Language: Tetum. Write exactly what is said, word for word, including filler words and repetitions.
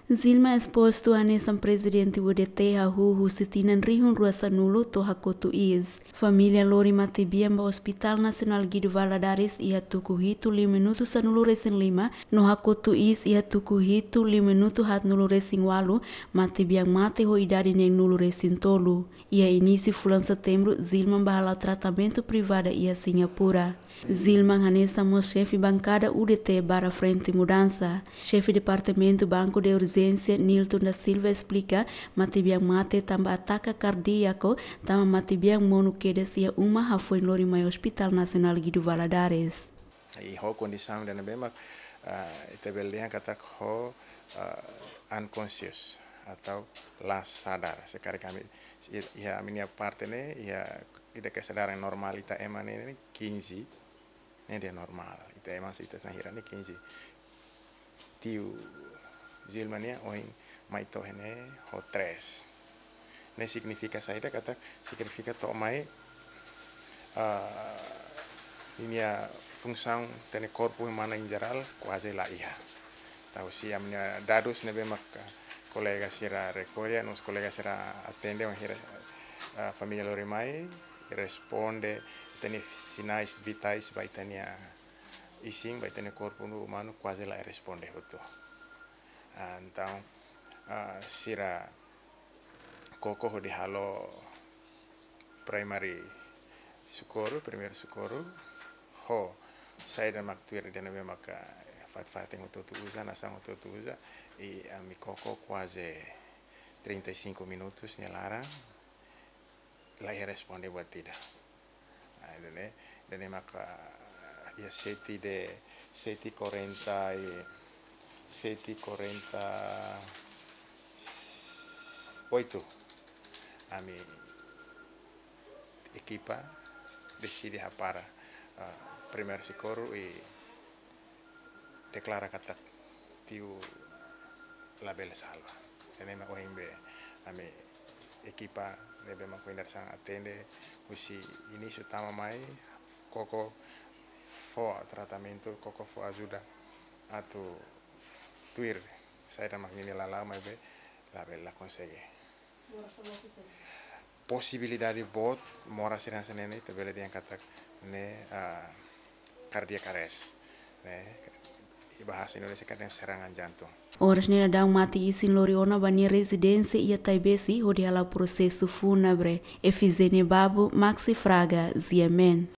Zilma espostu hanesan prezidente U D T hahú husi tinan rihun rua sanulu to'o hakotu iis. Família lori matebian ba Hospital Nasionál Guido Valadares iha tuku hitu liu minutu sanulu resin lima, no hakotu iis iha tuku hitu liu minutu haatnulu resin ualu, matebian mate ho idade neenulu resin tolu. Iha inísiu fulan Setembru, Zilma bá hala'o tratamentu privada iha Singapura. Zilma hanesan mós xefe bankada U D T Barra Frente Mudança. Xefe Departamentu Banco de Urgência, Nilton da Silva, esplika, matebian mate tanba ataka kardíaku, tanba matebian monu kedas iha uma, hafoin lori mai Hospital Nasionál Guido Valadares. I ho kondisaun ida ne'ebé mak, ah, ita bele dehan katak ho, ah, unconscious atau la sadar. Se karik ami, iha ami-nia parte ne'e, iha ida kesadaran normál ita ema ne'e, ne'e quinze, ne'e ida normál. Ita ema se ita-nia hira ne'e quinze. Tiu Zilma nian ohin mai to'o iha ne'e ho tres. Ne'e signifika saida? Katak signifika to'o mai, ah, ninia funsaun ita-nia korpu umana em geral kuaze la iha. Entaun se ami-nia dadus ne'ebé mak kolega sira rekolla, no mós kolega sira atende, bainhira, ah, família lori mai, responde, ita-nia sinais vitais ba ita-nia isin, ba ita-nia korpu no umanu kuaze la responde hotu. Ah, entaun, ah, sira koko hodi halo primary socorro, primeiru sokorru, ho saida mak tuir ida ne'ebé maka fatin-fatin hotu-hotu uza, nasaun hotu-hotu uza, i ami koko kuaze trinta e cinco minutos nia laran, la iha responde buat ida. Ah, ida-ne'e, ida-ne'e maka iha sete de, sete e quarenta e, sete e quarenta e oito. Ami ekipa deside hapara, ah, primeiru sokorru i deklara katak tiu labele salva. Ida-ne'e mak ohin be ami ekipa ne'ebé mak ohin dadeer-saan atende, husi inísiu tama mai, koko fó tratamentu, koko fó ajuda atu tuir saida mak ninia lala'ok, maibé labele, la konsege. Posibilidade boot moras sira hanesan ne'e, ita bele dehan katak ne'e, ah, cardiac arrest, ne'e, iha bahasa Indonesia katak serangan jantung. Oras ne'e daudaun mate-isin lori ona ba nia rezidénsia iha Taibesi hodi hala'o prosesu fúnebre. Efizénia Babo, Maxi Fraga, G M N.